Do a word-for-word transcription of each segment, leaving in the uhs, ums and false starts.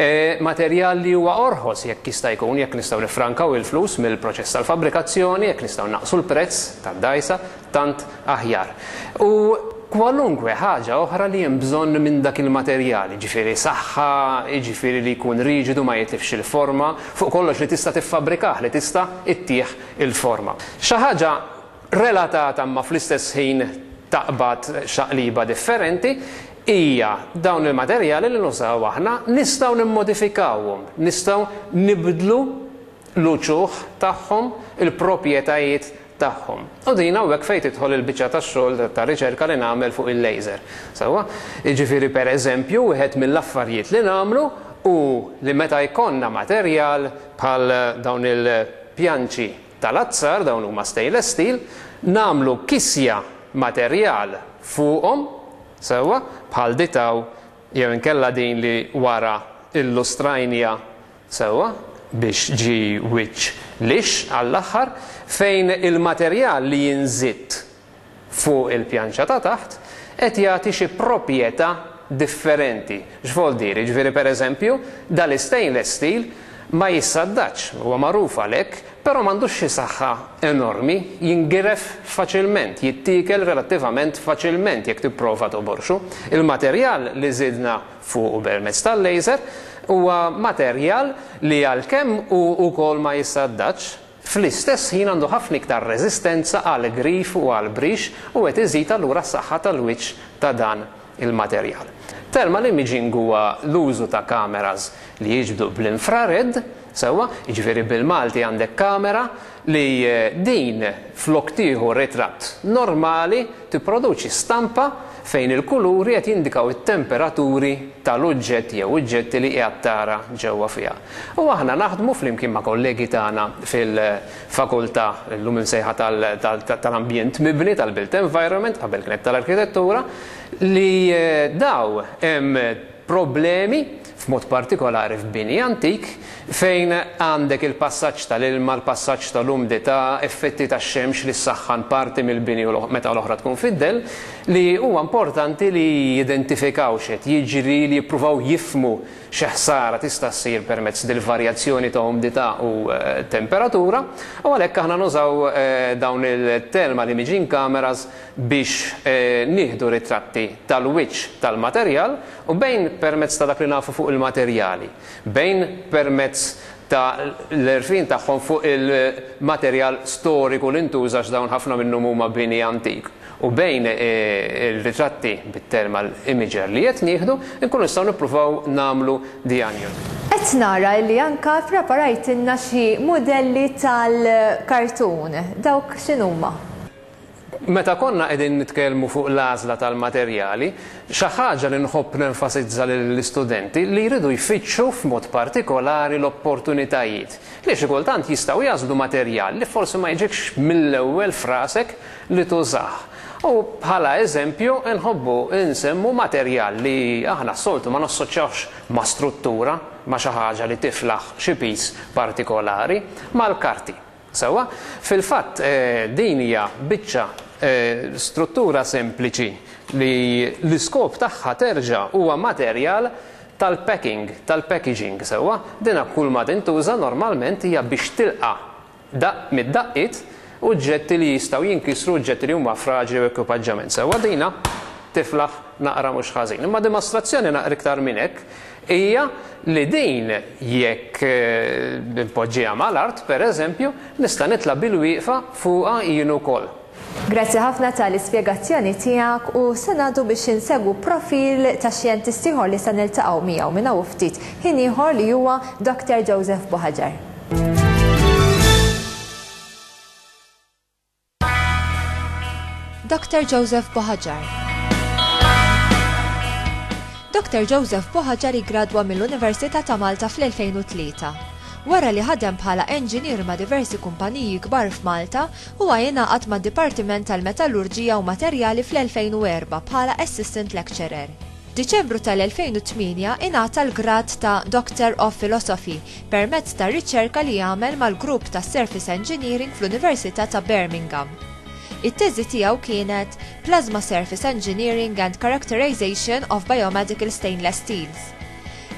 E, materjal li huwa orħos jekk jista' jkun, jekk nistgħu nifrankaw il-flus mill-proċess tal-fabbrikazzjoni, jekk nistgħu naqsu l-prezz tad-dgħajsa, tant aħjar. U kwalunkwe ħaġa oħra li hemm bżonn minn dak il-materjal, jiġifieri saħħa, jiġifieri li jkun riġidu, ma jitlifx il-forma, fuq kollox li tista' tiffabrikah, li tista' ittih il-forma. Xi ħaġa relatata ma fl-istess ħin taqbad xaqliba differenti hija dawn il-materjali li nużaw aħna nistgħu nimmodifikawhom, nistgħu nibdlu l-uċuħ tagħhom, il-proprjetajiet tagħhom. U din hawnhekk fejn tidħol il-biċċa tax-xogħol ta' riċerka li nagħmel fuq il-laser. Sewwa, jiġifieri, pereżempju, wieħed mill-affarijiet li nagħmlu u li meta jkollna materjal bħal dawn il-pjanċi tal-azzar, dawn huma stainless steel, nagħmlu kisja materjal fuqhom, sewwa, bħal ditaw jew inkella din li wara illustrajnija, sewwa, biex ġi wiċċ lix għall-aħħar, fejn il-materjal li jinżid fuq il-pjanċa ta' taħt qed jagħti xi proprjetà differenti. X'vol dir? Jiġifieri, pereżempju, dal-stainless steel ma jissaddax, huwa magħruf għalhekk, però m'għandux xi saħħa enormi, jingiref faċilment, jittiekel relattivament faċilment jekk tipprova toborxu. Il-materjal li żidna fuq permezz tal-laser huwa materjal li għalkemm hu wkoll ma jissaddax, fl-istess ħin għandu ħafna iktar reżistenza għal grif u għal brix u qed iżid allura s-saħħa tal-wiċċ ta' dan il-materjal. Thermal imaging huwa l-użu ta' kameras li jiġbdu bl-infrared, sewwa, jiġifieri bil-Malti għandek kamera li din flok tieħu ritratt normali tipproduċi stampa fejn il-kuluri qed jindikaw it-temperaturi tal-oġġett jew oġġetti li qiegħed tara ġewwa fiha. U aħna naħdmu flimkien ma' kollegi tagħna fil-fakultà llum imsejħa tal-ambjent mibni, tal-built environment, qabel kienet tal-arkitettura, li daw hemm problemi f'mod partikolari f'bini antik fejn għandek il-passaġġ tal-ilma, l-passaġġ tal-umdità, effetti tax-xemx li ssaħħan parti mill-bini u meta l-oħra tkun fid-dell, li huwa importanti li jidentifikaw x'qed jiġri, li jippruvaw jifhmu xi ħsara tista' ssir permezz dil-varjazzjoni ta' umdità u temperatura, u għalhekk aħna nużaw dawn il-thermal imaging cameras biex nieħdu ritratti tal-wiċċ tal-materjal u bejn permezz ta' dak li nafu fuq il-materjali, bejn permezz ta' l-għerfien tagħhom fuq il-materjal storiku li ntuża, dawn ħafna minnhom huma bini antik, u bejn il-ritratti bit-thermal imager li qed nieħdu, nkunu nistgħu nippruvaw nagħmlu diagnosi. Qed nara li anka preparajtilna xi mudelli tal-kartun. Dawk x'inhuma? Meta konna qegħdin nitkellmu fuq l-għażla tal-materjali, xi ħaġa li nħobb nenfasizza lill-istudenti li jridu jfittxu f'mod partikolari l-opportunitajiet. Li xi kultant jistgħu jagħżlu materjal li forsi ma jiġikx mill-ewwel frasek li tużah. U bħala eżempju nħobbu nsemmu materjal li aħna s-soltu ma nassoċjawx ma' struttura, ma' xi ħaġa li tiflaħ xi piż partikolari, mal-karti. Sewwa, fil-fatt din hija biċċa struttura sempliċi li l-iskop tagħha terġa' huwa materjal tal-packing, tal-packaging, sewwa, dina kull ma tintuża normalment hija biex tilqa' daq mid-daqqiet oġġetti li jistgħu jinkisru, oġġetti li huma fraġli u ekwipaġġament. Sewwa, dina tiflaħ naqra mhux ħażin. Imma dimostrazzjoni naqra iktar minn hekk hija li din jekk npoġġiha mal-art, pereżempju, nista' nitla' bil-wieqfa fuqha jien ukoll. Grazzi ħafna tal-ispjegazzjoni tiegħek u se ngħaddu biex insegwu profil ta' xjentist ieħor li se niltaqgħu miegħu minn hawn ftit ħin ieħor, li huwa Doctor Joseph Buhagiar. Doctor Joseph Buhagiar. Doctor Joseph Buhagiar iggradwa mill-Università ta' Malta fl-elfejn u tlieta. Wara li ħadem bħala enġinier ma' diversi kumpaniji kbar f'Malta, huwa jingħaqad mad-Dipartiment tal-Metallurġija u Materjali fl-elfejn u erba' bħala Assistant Lecturer. F'Diċembru tal-elfejn u tmienja ingħata l-grad ta' Doctor of Philosophy permezz ta' riċerka li jagħmel mal-grupp ta' Surface Engineering fl-Università ta' Birmingham. It-teżi tiegħu kienet Plasma Surface Engineering and Characterization of Biomedical Stainless Steels.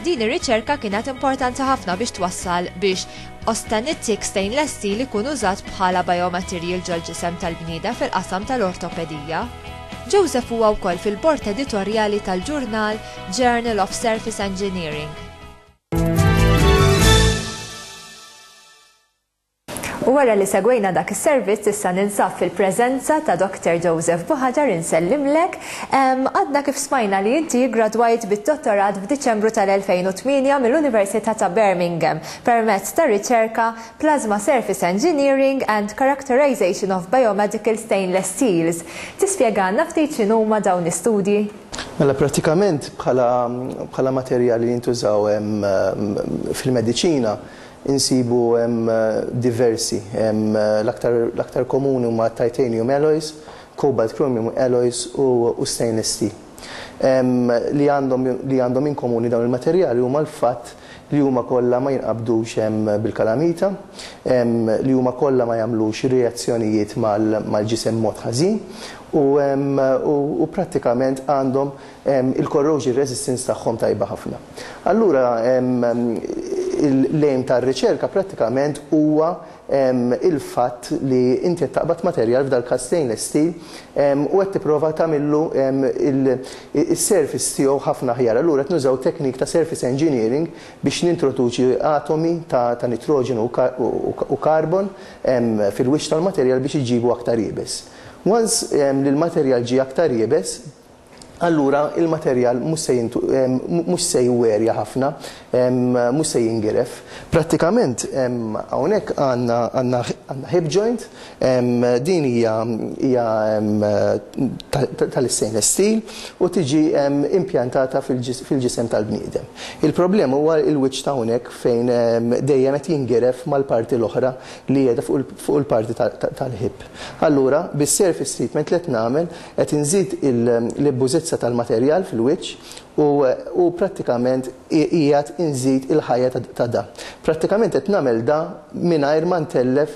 Din ir-riċerka kienet importanti ħafna biex twassal biex austenitic stainless steel ikun użat bħala biomaterial ġol-ġisem tal-bniedem fil-qasam tal-ortopedija. Joseph huwa wkoll fil-bord editorjali tal-ġurnal Journal of Surface Engineering. U wara li segwejna dak is-servizz, issa ninsab fil-preżenza ta' Doctor Joseph Buhagiar. Insellimlek. Għadna kif smajna li inti gradwajt bid-dottorat f'Diċembru tal-elfejn u tmienja mill-Università ta' Birmingham permezz ta' riċerka Plasma Surface Engineering and Characterization of Biomedical Stainless Steels. Tispjegana ftit x'inhuma dawn l-istudji? Mela, pratikament bħala materjali li jintużaw fil-mediċina insibu hemm diversi. L-aktar komuni huma titanium alloys, cobalt chromium alloys u stainless steel. Li għandhom li għandhom in komuni dawn il-materjali huma l-fatt li huma kollha ma jinqabdux bil-kalamita, li huma kollha ma jagħmlux reazzjonijiet mal-ġisem mod ħażin u prattikament għandhom il-corrosion resistance tagħhom tajba ħafna. Allura l-aim tar-riċerka prattikament huwa il-fatt li inti qed taqbad materjal, f'dal każ stainless steel, u qed tipprova tagħmillu is-surface tiegħu ħafna aħjar. Allura qed nużaw teknik ta' surface engineering biex nintroduċi atomi ta' nitroġenu u karbon fil-wiċċ tal-materjal biex iġibu aktar iebes. Once li l-materjal ġie aktar iebes, allura il-materjal mhux se jwerja ħafna, mhux se jingiref. Prattikament hawnhekk għandna hip joint, din hija tal-stainless steel u tiġi impjantata fil-ġisem tal-bniedem. Il-problema huwa il-wiċċ ta' hawnhekk fejn dejjem qed jingiref mal-parti l-oħra li qiegħda fuq il-parti tal-hip. Allura, bis-surface treatment li qed nagħmel, qed inżid l-ibbużezza tal-materjal fil-wiċċ u prattikament qiegħed inżid il-ħajja ta' da. Prattikament qed nagħmel da mingħajr ma ntellef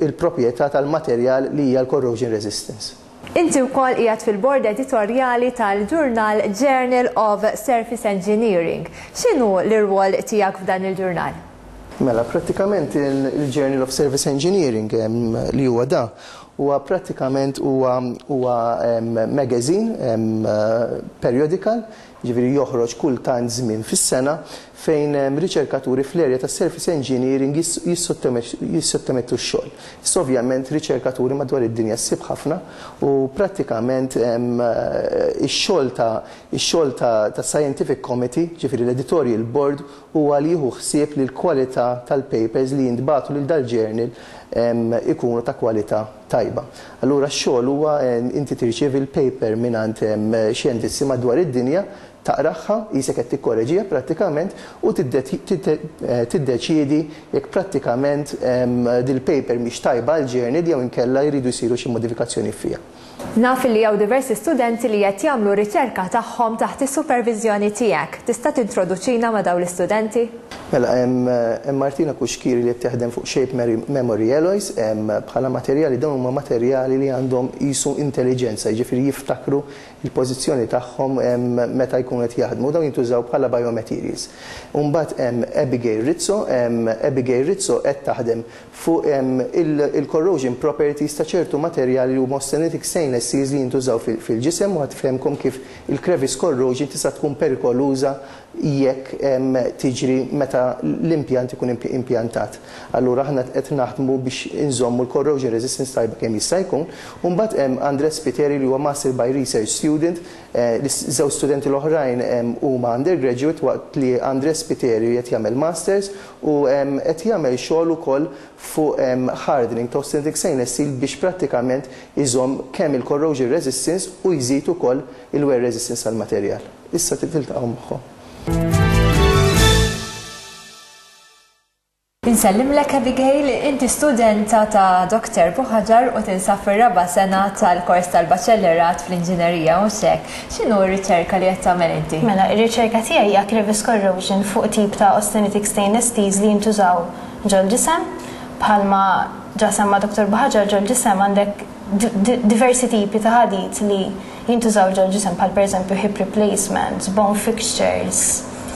il-proprjetà tal-materjal li hija l-corrosion resistance. Inti wkoll qiegħed fil-bord editorjali tal-ġurnal Journal of Surface Engineering. X'inhu l-irwol tiegħek f'dan il-ġurnal? Mela, prattikament il-Journal of Surface Engineering, li huwa da, huwa prattikament huwa huwa magazine periodical, ġifieri joħroġ kull tant żmien fis-sena, fejn riċerkaturi fl-area ta' surface engineering jissottomettu x-xogħol. Issa ovvjament riċerkaturi madwar id-dinja ssib ħafna u prattikament ix-xogħol ta' ix-xogħol ta' scientific committee, ġifieri l-editorial board, huwa li jieħu ħsieb li l-kwalità tal-papers li jintbagħtu lil dal-journal ikunu ta' kwalità tajba. Allura x-xogħol huwa inti tirċievi l-paper mingħand xjentisti madwar id-dinja, taqraha, qisek qed tikkoreġiha prattikament, u tiddeċiedi jekk prattikament dil-paper mhix tajba għal journal jew inkella jridu jsiru xi modifikazzjoni fiha. Naf li hawn diversi studenti li qed jagħmlu riċerka tagħhom taħt is-supervizjoni tiegħek. Tista' tintroduċina ma' dawn l-istudenti? Mela, hemm Martina Kuxkiri li qed taħdem fuq Shape Memory Alloys bħala materjali. Dawn huma materjali li għandhom qisu intelligenza, jiġifieri jiftakru il-pożizzjoni tagħhom meta jkunu qed jaħdmu. Dawn jintużaw bħala biomaterials. Imbagħad hemm Abigail Rizzo. Abigail Rizzo qed taħdem fuq il-corrosion properties ta' ċertu materjali li huma austenitic stainless steels li jintużaw fil-ġisem u ħa tfehemkom kif il-crevice corrosion tista' tkun perikoluża jekk tiġri meta l-impjant ikun impjantat. Allura aħna qed naħdmu biex inżommu l-corrosion resistance tajba kemm jista' jkun. U mbagħad hemm Andres Piteri li huwa Master by Research Student, żewġ studenti l-oħrajn huma undergraduate, waqt li Andres Piteri qed jagħmel masters u qed jagħmel xogħol ukoll fuq hardening ta' austenitic stainless steel biex prattikament iżomm kemm il-corrosion resistance u jżid ukoll il-wear resistance għal-materjal. Issa tiltaqgħu magħhom. Insellimlek Abigail, inti studenta ta' Doctor Buhagiar u tinsab fir-raba' sena tal-kors tal-baċellerat fl-inġinerija, u hekk. X'inhu r-riċerka li qed tagħmel inti? Mela, ir-riċerka tiegħi hija crevice corrosion fuq tip ta' austenitic stainless steels li jintużaw ġol-ġisem. Bħalma ġa semma Doctor Buhagiar, ġol-ġisem għandek Diversi tipi ta' ħadid li jintużaw ġol-ġisem, bħal pereżempju hip replacements, bone fixtures.